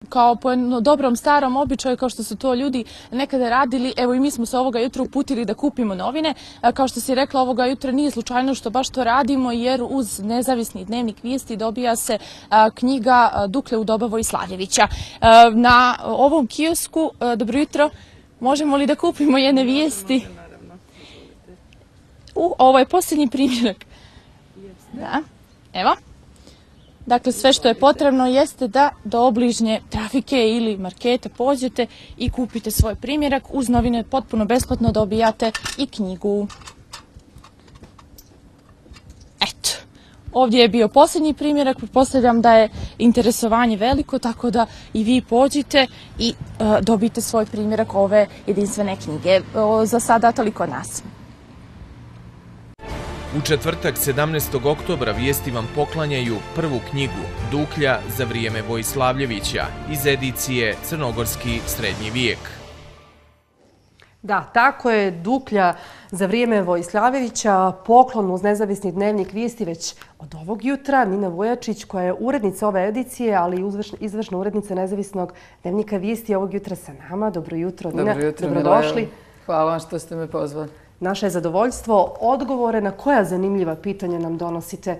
kao po jednom dobrom starom običaju, kao što su to ljudi nekada radili, evo i mi smo se ovoga jutra uputili da kupimo novine. Kao što si rekla, ovoga jutra nije slučajno što baš to radimo, jer uz Nezavisni dnevnik vijesti dobija se knjiga Dukle u doba Vojslavljevića. Na ovom kiosku, dobro jutro, možemo li da kupimo jedne vijesti? Ovo je posljednji primjerak. Da, evo. Dakle, sve što je potrebno jeste da do obližnje trafike ili marketa pođete i kupite svoj primjerak. Uz novine potpuno besplatno dobijate i knjigu. Eto, ovdje je bio posljednji primjerak. Pretpostavljam da je interesovanje veliko, tako da i vi pođite i dobijete svoj primjerak ove jedinstvene knjige. Za sada toliko od nas. U četvrtak 17. oktobra vijesti vam poklanjaju prvu knjigu Duklja za vrijeme Vojslavljevića iz edicije Crnogorski srednji vijek. Da, tako je, Duklja za vrijeme Vojslavljevića, poklon uz Nezavisni dnevnik vijesti već od ovog jutra. Nina Vujačić, koja je urednica ove edicije, ali i izvršna urednica Nezavisnog dnevnika vijesti, ovog jutra sa nama. Dobro jutro, Nina. Dobro jutro, dobrodošli. Hvala vam što ste me pozvali. Naše je zadovoljstvo. Odgovore na koja zanimljiva pitanja nam donosite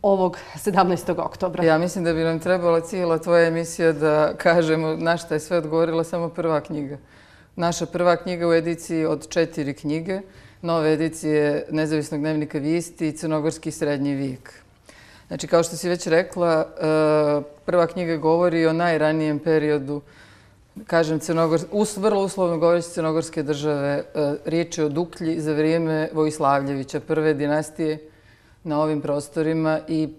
ovog 17. oktobra? Ja mislim da bi nam trebala cijela tvoja emisija da kažemo na šta je sve odgovorila samo prva knjiga. Naša prva knjiga u ediciji od 4 knjige, nove edicije Nezavisnog dnevnika vijesti i Crnogorski srednji vijek. Znači, kao što si već rekla, prva knjiga govori o najranijem periodu, kažem, vrlo uslovno govoreći Crnogorske države. Riječ je o Duklji za vrijeme Vojslavljevića, prve dinastije na ovim prostorima i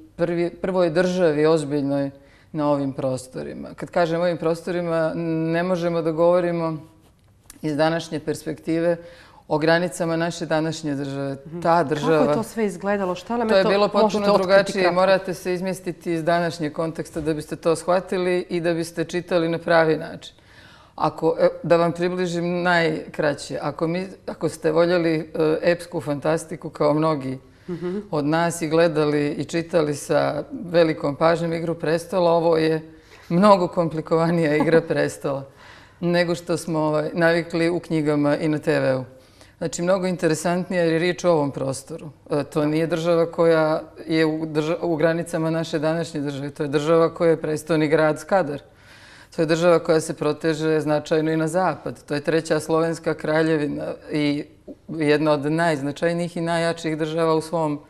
prvoj državi ozbiljnoj na ovim prostorima. Kad kažem ovim prostorima, ne možemo da govorimo iz današnje perspektive o granicama naše današnje države. Ta država... Kako je to sve izgledalo? Šta nam to je to? Je bilo potpuno drugačije. Morate se izmjestiti iz današnjeg konteksta da biste to shvatili i da biste čitali na pravi način. Da vam približim najkraće, ako ste voljeli epsku fantastiku kao mnogi od nas i gledali i čitali sa velikom pažnjom Igru prestola, ovo je mnogo komplikovanija Igra prestola nego što smo navikli u knjigama i na TV-u. Znači, mnogo interesantnija jer je riječ o ovom prostoru. To nije država koja je u granicama naše današnje države. To je država koja je prestoni grad Skadar. To je država koja se proteže značajno i na zapad. To je treća slovenska kraljevina i jedna od najznačajnijih i najjačih država u svom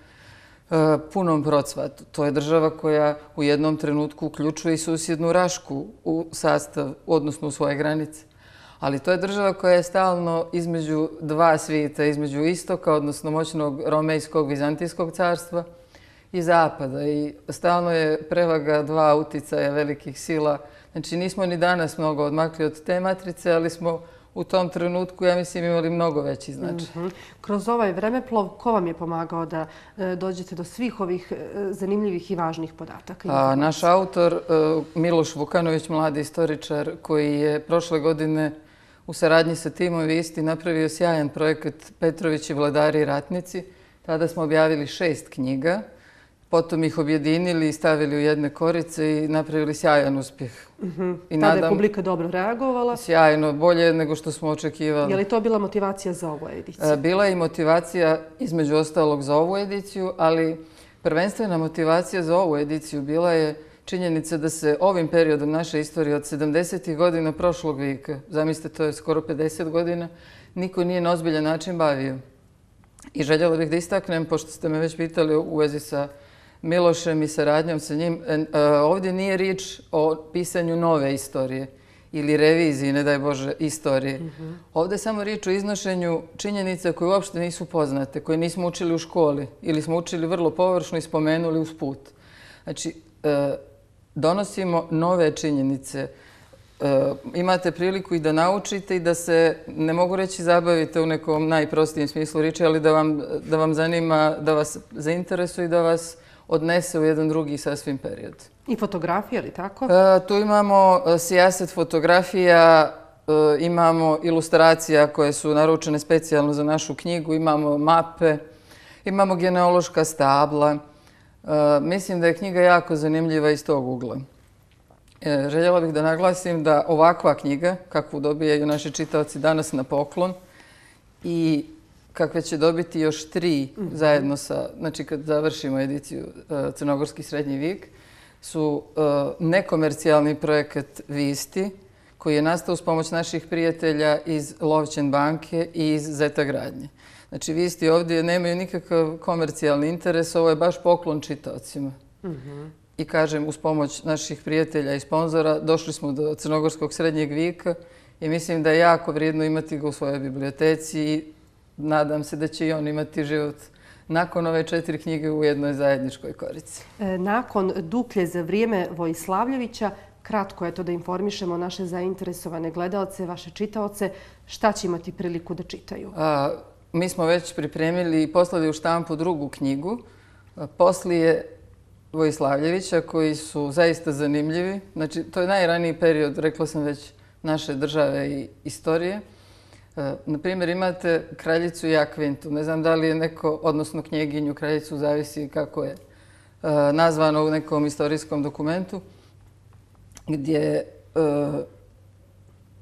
punom procvatu. To je država koja u jednom trenutku uključuje i susjednu Rašku u sastav, odnosno u svoje granice. Ali to je država koja je stalno između dva svijeta, između istoka, odnosno moćnog romejskog, vizantijskog carstva i zapada. I stalno je prevaga dva uticaja velikih sila. Znači, nismo ni danas mnogo odmakli od te matrice, ali smo u tom trenutku, ja mislim, imali mnogo veći značaj. Kroz ovaj vremeplov, ko vam je pomagao da dođete do svih ovih zanimljivih i važnih podataka? Naš autor, Miloš Vukanović, mladi istoričar, koji je prošle godine u saradnji sa timom vijesti napravio sjajan projekat Petrović i vladari i ratnici. Tada smo objavili 6 knjiga. Potom ih objedinili i stavili u jedne korice i napravili sjajan uspjeh. Tada je publika dobro reagovala? Sjajno, bolje nego što smo očekivali. Je li to bila motivacija za ovu ediciju? Bila je i motivacija između ostalog za ovu ediciju, ali prvenstvena motivacija za ovu ediciju bila je činjenica da se ovim periodom naše istorije od 70. godina prošlog vijeka, zamislite, to je skoro 50 godina, niko nije na ozbiljan način bavio. I željela bih da istaknem, pošto ste me već pitali u vezi sa Milošem i saradnjom sa njim, ovdje nije riječ o pisanju nove istorije ili reviziji, ne daj Bože, istorije. Ovdje je samo riječ o iznošenju činjenica koje uopšte nisu poznate, koje nismo učili u školi ili smo učili vrlo površno i spomenuli usput. Znači, donosimo nove činjenice. Imate priliku i da naučite i da se, ne mogu reći zabavite u nekom najprostijem smislu riječi, ali da vam zanima, da vas zainteresuje i da vas odnese u jedan drugi sasvim period. I fotografije, ali tako? Tu imamo sijaset fotografija, imamo ilustracija koje su naručene specijalno za našu knjigu, imamo mape, imamo genealoška stabla. Mislim da je knjiga jako zanimljiva iz tog ugla. Željela bih da naglasim da ovakva knjiga, kakvu dobijaju naši čitaoci danas na poklon i kakve će dobiti još 3 zajedno sa, znači kad završimo ediciju Crnogorski srednji vijek, su nekomercijalni projekat Visti, koji je nastao uz pomoć naših prijatelja iz Lovćen banke i iz Zeta gradnje. Znači, Visti ovdje nemaju nikakav komercijalni interes, ovo je baš poklon čitaocima. I kažem, uz pomoć naših prijatelja i sponzora došli smo do Crnogorskog srednjeg vijeka i mislim da je jako vrijedno imati ga u svojoj biblioteci i nadam se da će i on imati život nakon ove 4 knjige u jednoj zajedničkoj korici. Nakon Duklje za vrijeme Vojislavljevića, kratko je to da informišemo naše zainteresovane gledalce, vaše čitaoce, šta će imati priliku da čitaju? Mi smo već pripremili i poslali u štampu drugu knjigu, poslije Vojislavljevića, koji su zaista zanimljivi. Znači, to je najraniji period, rekla sam već, naše države i istorije. Naprimjer, imate kraljicu Jakvintu. Ne znam da li je neko, odnosno knjeginju, kraljicu, zavisi kako je nazvano u nekom istorijskom dokumentu, gdje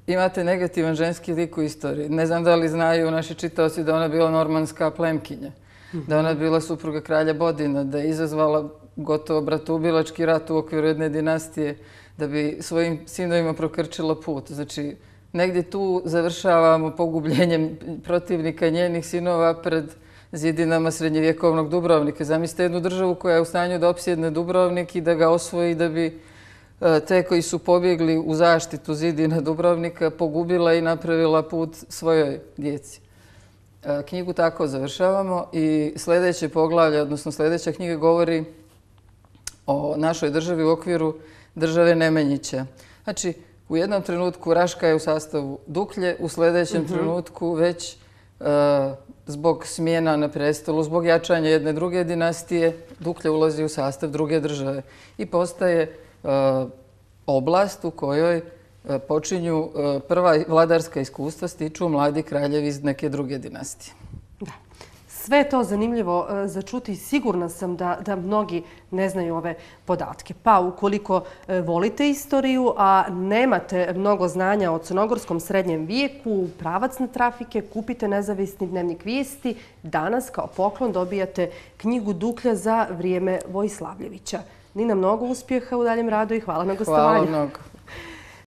imate negativan ženski lik u istoriji. Ne znam da li znaju naši čitaoci da ona bila normanska plemkinja, da ona bila supruga kralja Bodina, da je izazvala gotovo bratoubilački rat u okviru jedne dinastije, da bi svojim sinovima prokrčila put. Znači, negdje tu završavamo pogubljenjem protivnika njenih sinova pred zidinama srednjevjekovnog Dubrovnika. Zamislite jednu državu koja je u stanju da opsjedne Dubrovnik i da ga osvoji, da bi te koji su pobjegli u zaštitu zidina Dubrovnika pogubila i napravila put svojoj djeci. Knjigu tako završavamo i sljedeće poglavlje, odnosno sljedeća knjiga govori o našoj državi u okviru države Nemanjića. Znači, u jednom trenutku Raška je u sastavu Duklje, u sljedećem trenutku već zbog smjena na prestolu, zbog jačanja jedne druge dinastije, Duklje ulazi u sastav druge države i postaje oblast u kojoj počinju prva vladarska iskustva, stiču mladi kraljevi iz neke druge dinastije. Da. Sve je to zanimljivo za čuti. Sigurna sam da mnogi ne znaju ove podatke. Pa ukoliko volite istoriju, a nemate mnogo znanja o crnogorskom srednjem vijeku, pravac na trafike, kupite nezavisni dnevnik Vijesti. Danas kao poklon dobijate knjigu Duklja za vrijeme Vojislavljevića. Nina, mnogo uspjeha u daljem radu i hvala na gostovanju. Hvala mnogo.